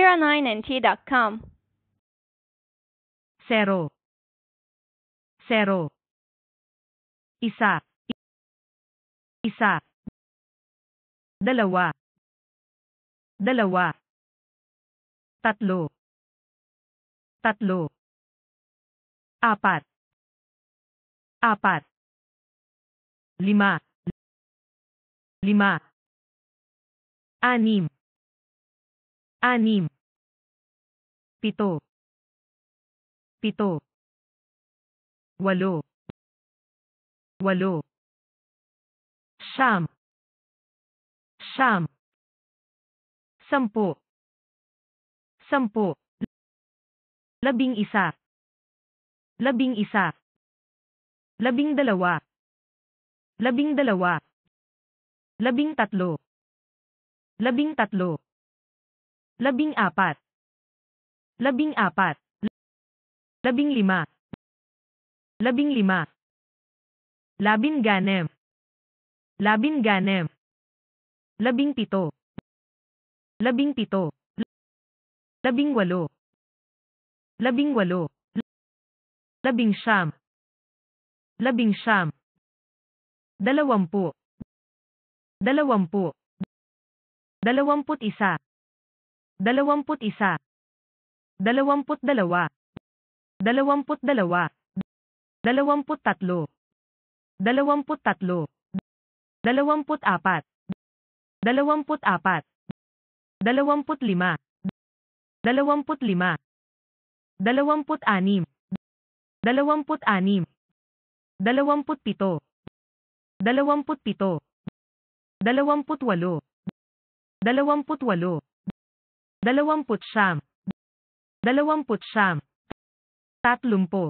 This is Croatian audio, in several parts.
09nt.com. 0, 0. Isa, isa. Dalawa, dalawa. Tatlo, tatlo. Apat, apat. Lima, lima. Anim, anim. Pito, pito. Walo, walo. Siyam, siyam. Sampu, sampu. Labing isa, labing isa. Labing dalawa, labing dalawa. Labing tatlo, labing tatlo. Labing apat, labing apat. Labing lima, labing lima. Labing ganem, labing ganem. Labing pito, labing pito. Labing walo, labing walo. Labing siyam, labing siyam. Dalawampu, dalawampu. Dalawamput isa, dalawamput isa. Dalawamput dalawa, dalawamput dalawa. Dalawamput tatlo, dalawamput tatlo. Dalawamput apat, dalawamput apat. Dalawamput lima, dalawamput lima. Dalawamput anim, dalawamput anim. Dalawamput pito, dalawamput pito. Dalawamput walo, dalawamput walo. Dalawamput siyam, dalawamput siyam. Tatlumpu,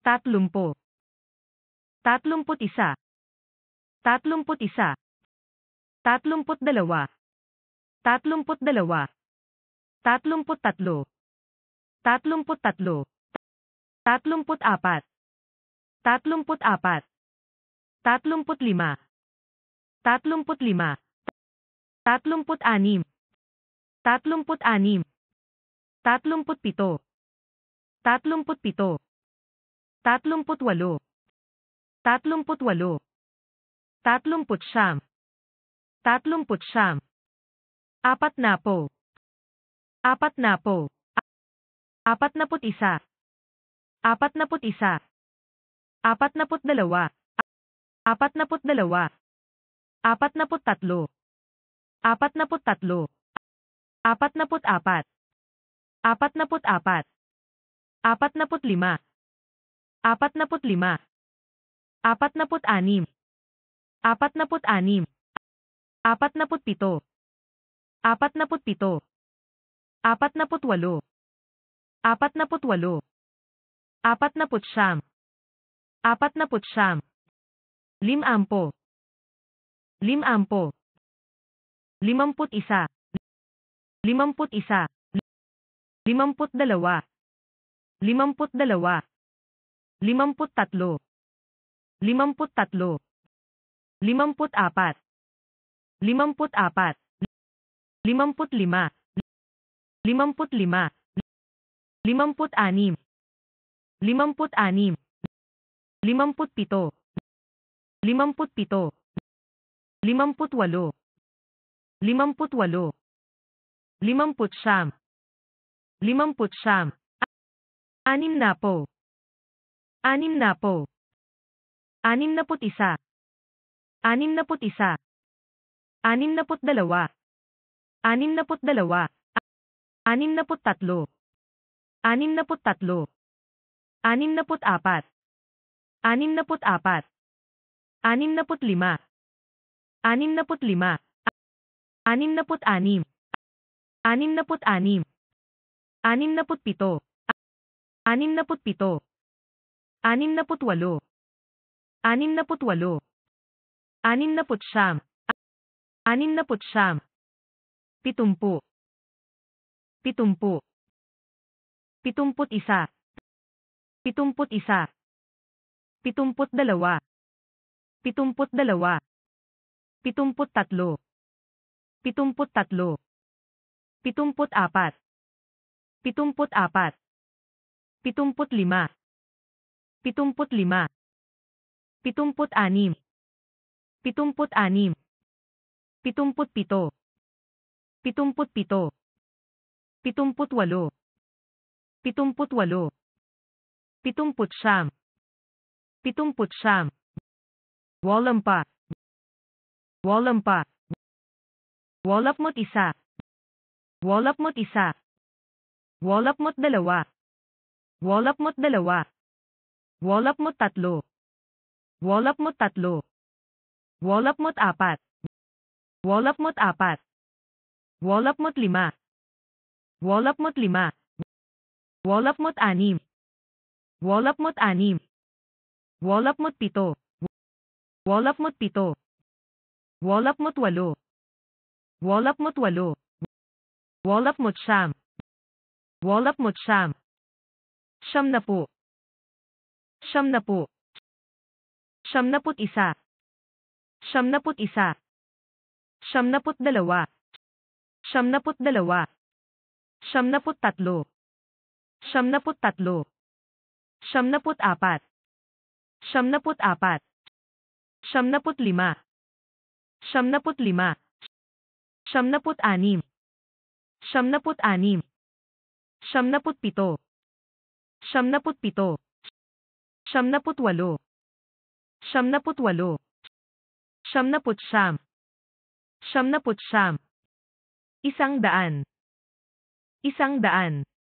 tatlumpu. Tatlumput isa, tatlumput isa. Tatlumput dalawa, tatlumput dalawa. Tatlumput tatlo, tatlumput tatlo. Tatlumput apat, tatlumput apat. Tatlumput lima, tatlumput lima. Tatlumput anim, tatlumput anim. Tatlumput pito, tatlumput pito. Tatlumput walo, tatlumput walo. Tatlumput siyam, tatlumput siyam. Apat na po, apat na po. Apat naput isa, apat naput isa. Apat naput dalawa, apat naput dalawa. Apat naput tatlo, apat naput tatlo. Apat naput apat, apat naput apat. Apat naput lima, apat naput lima. Apat naput anim, apat naput anim. Apat naput pito, apat naput pito. Apat naput walo, apat naput walo. Apat naput siyam, apat naput siyam. Limampo, limampo. Limamput isa, limamput isa. Limamput dalawa, limamput dalawa. Limamput tatlo, limamput tatlo. Limamput apat, limamput apat. Limamput lima, limamput lima. Limamput anim, limamput anim. Limamput pito, limamput pito. Limamput walo, limamput walo. Limamput siyam, limamput siyam. Anim na po, anim na po. Anim naput isa, anim naput isa. Anim naput dalawa, anim naput dalawa. Anim naput tatlo, anim naput tatlo. Anim naput apat, anim naput apat. Anim naput lima, anim naput lima. Anim naput anim, anim naput anim. Anim naput pito, anim naput pito. Anim naput walo, anim naput walo. Anim naput siyam, anim naput siyam. Pitumpu, pitumpu. Pitumput isa, pitumput isa. Pitumput dalawa, pitumput dalawa. Pitumput tatlo, pitumput tatlo. 74, 74, 75, 75, 76, 76, 77, 77, 78, 78, 70, 70, 80, 80, 81, 81, 82, 82, 83, 83, 84, 84, 85, 85, 86, 86, 87, 87, 88, 88, 89, 89, 90, 90, 91, 91, 92, 92, 93, 93, 94, 94, 95, 95, 96, 96, 97, 97, 78, 78, 79, 79, 100, 100,